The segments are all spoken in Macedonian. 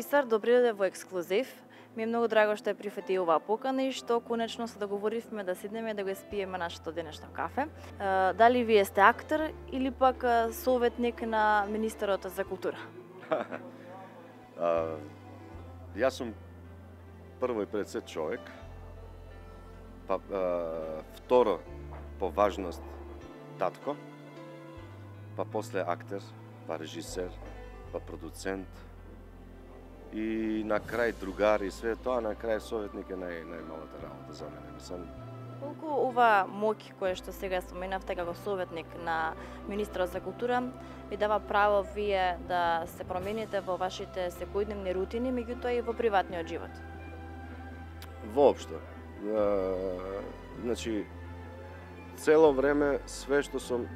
Бисар, добри дојде во ексклузив. Ми е многу драго што ја прифати оваа покана и што конечно се договоривме да седнеме да го испиеме нашето денешно кафе. Дали вие сте актер или пак советник на министерот за култура? Јас сум прво и пред се човек, па второ по важност татко, па после актер, па режисер, па продуцент и на крај другар и све тоа, на крај советник е најмалата работа за мене. Мислам, Колку ова моќ која што сега споменавте како советник на министерот за култура ви дава право вие да се промените во вашите секојдневни рутини, меѓутоа и во приватниот живот? Воопшто. Значи, цело време све што сум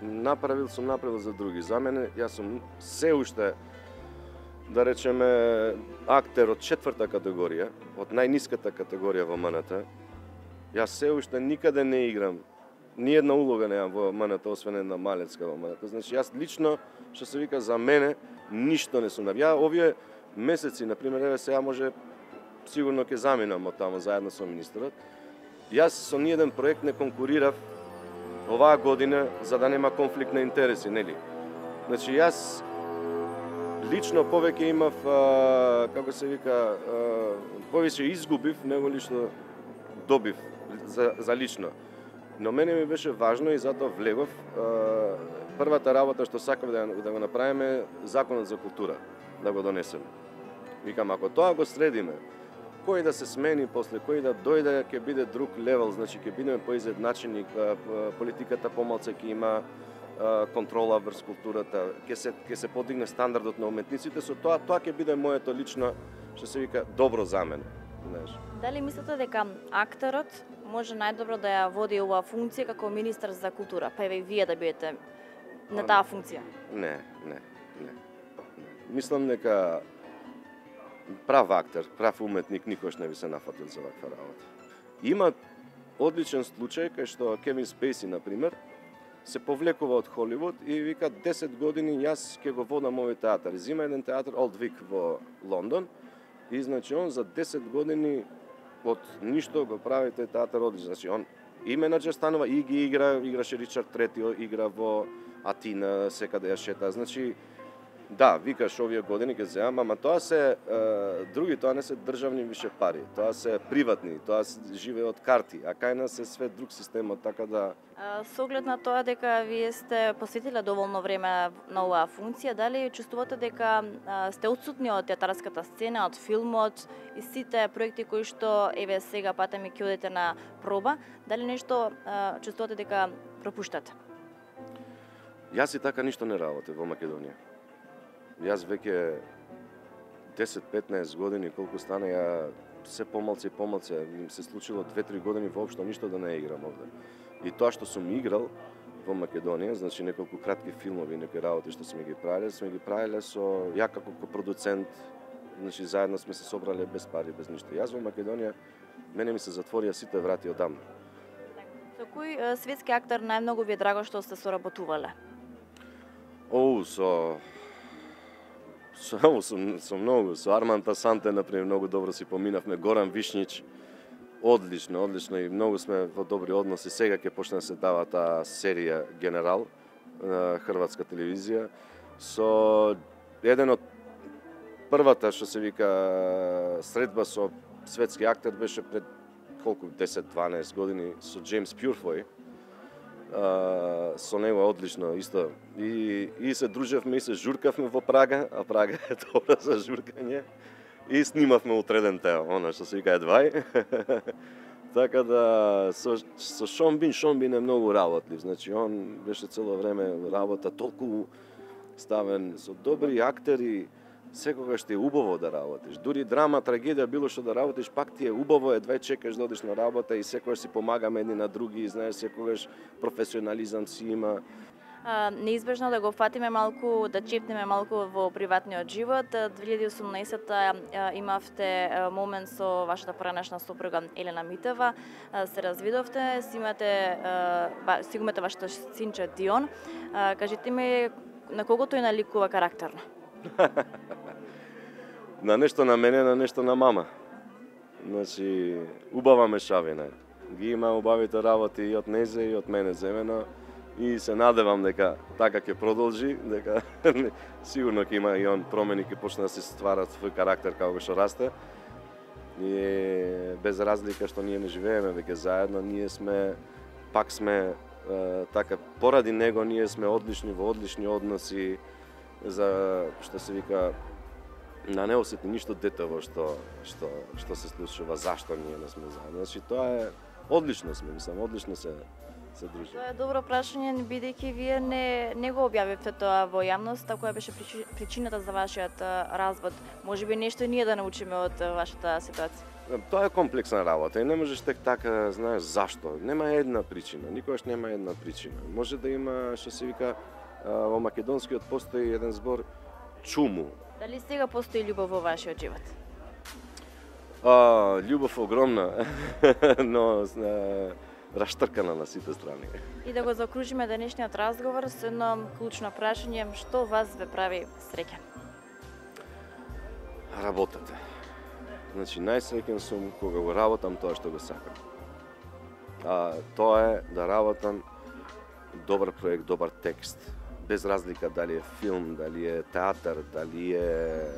направил за други. За мене, јас сум се уште, да речеме, актер од четврта категорија, од најниската категорија во МНТ. Јас се уште никаде не играм, ни една улога немам во МНТ, освен една малецка во МНТ. Значи, јас лично, што се вика, за мене, ништо не сум направил. Ја овие месеци, например, еве сега може сигурно ќе заминам од таму заедно со министерот. Јас со ниеден проект не конкурирав оваа година за да нема конфликт на интереси, нели? Значи, јас лично повеќе имав, како се вика, повеќе изгубив него ли што добив за лично. Но мене ми беше важно и затоа влегов. Првата работа што сакав да го направиме законот за култура, да го донесеме. Викам, ако тоа го средиме, кој да се смени после, кој да дојде, ќе биде друг левел, значи ќе бидеме поизедначени, политиката помалку ќе има контрола врз културата, ќе се подигне стандардот на уметниците, со тоа ќе биде моето лично, што се вика, добро за мене. Знаеш. Дали мислите дека актерот може најдобро да ја води оваа функција како министер за култура, па еве и вие да бидете на таа функција? Не. Мислам дека прав актер, прав уметник никош не би се нафатил за ваква работа. Има одличен случај кај што Кевин Спейси, например, се повлекува од Холивуд и вика 10 години јас ќе го водам овој театар. Зима еден театар Олд Вик во Лондон и значи он за 10 години од ништо го прави тој театар одлично. Значи он и менаџер станува и ги играше Ричард Трети, игра во Атина, секаде ја шета. Значи да, викаш овие години ќе земам, ама тоа се други, тоа не се државни више пари, тоа се приватни, тоа живее од карти, а кај нас е све друг системот, така да... Со оглед на тоа дека вие сте посветиле доволно време на оваа функција, дали чувствувате дека сте отсутни од театарската сцена, од филмот и сите проекти кои што еве сега патеме ќе одите на проба, дали нешто чувствувате дека пропуштате? Јас и така ништо не работев во Македонија. Јас веќе 10-15 години, колку стана, ја се помалце, им се случило 2-3 години воопшто ништо да не играм овде. И тоа што сум играл во Македонија, значи неколку кратки филмови, некои работи што сме ги правеле со ја како продуцент, значи заедно сме се собрале без пари, без ништо. Јас во Македонија, мене ми се затворија сите врати одамна. Со кој светски актер најмногу ви е драго што сте соработувале? Со многу, со Арманд Асанте, например, многу добро си поминавме, Горан Вишнич, одлично и многу сме во добри односи. Сега ќе почне да се дава таа серија Генерал на хрватска телевизија. Со еден од првата, што се вика, средба со светски актер беше пред колку 10-12 години со Джеймс Пјурфој. Со него е одлично исто. И се дружевме и се журкавме во Прага, а Прага е добра за журкање. И снимавме утреден тео, она што се вика едвај. Така да со Шон Бин е многу работлив. Значи он беше цело време работа толку ставен со добри актери. Секогаш ти е убаво да работиш. Дури драма, трагедија, било што да работиш, пак ти е убаво, едвај чекаш да одиш на работа и секогаш си помагаме едни на други, и знаеш, секогаш професионализам си има. Неизбежно да го фатиме малку, да чепнеме малку во приватниот живот. 2018-та имавте момент со вашата поранешна сопруга Елена Митева, се развидовте, си имате вашето синче Дион. Кажете ми, на кого тој наликува карактерно? на нешто на мене, на нешто на мама. Значи, убава мешавина. Ги има убавите работи и од незе и од мене земено и се надевам дека така ќе продолжи, дека сигурно ќе има и он промени, ќе почне да се стварат свој карактер како што расте. И без разлика што ние не живееме веќе заедно, ние сме така поради него ние сме одлични во одлични односи, за што се вика на не осети ништо детево што се случува, зашто ние не сме заедно. Значи тоа е одлично сме, мислам, одлично се дружиме. Тоа е добро прашање, бидејќи вие не го објавивте тоа во јавноста, која беше причината за вашиот развод. Можеби нешто и ние да научиме од вашата ситуација. Тоа е комплексна работа и не можеш тек така, знаеш, зашто. Нема една причина, никогаш нема една причина. Може да има, што се вика, во македонскиот постои еден збор чуму. Дали сега постои љубов во вашиот живот? Љубов огромна, но раштркана на сите страни. И да го закружиме денешниот разговор со едно клучно прашање, што вас ве прави среќен? Работата. Значи, најсреќен сум кога го работам тоа што го сакам. Тоа е да работам добар проект, добар текст, без разлика дали е филм, дали е театар, дали е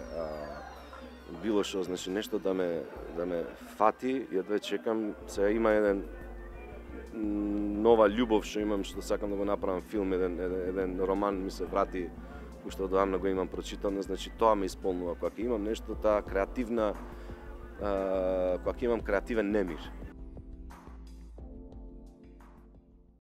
било што, значи нешто да ме фати, едве чекам. Сега има еден нова љубов што имам, што сакам да го направам филм, еден роман ми се врати, уште одамна го имам прочитано, значи тоа ме исполнува. Кога имам нешто таа креативна, кога имам креативен немир.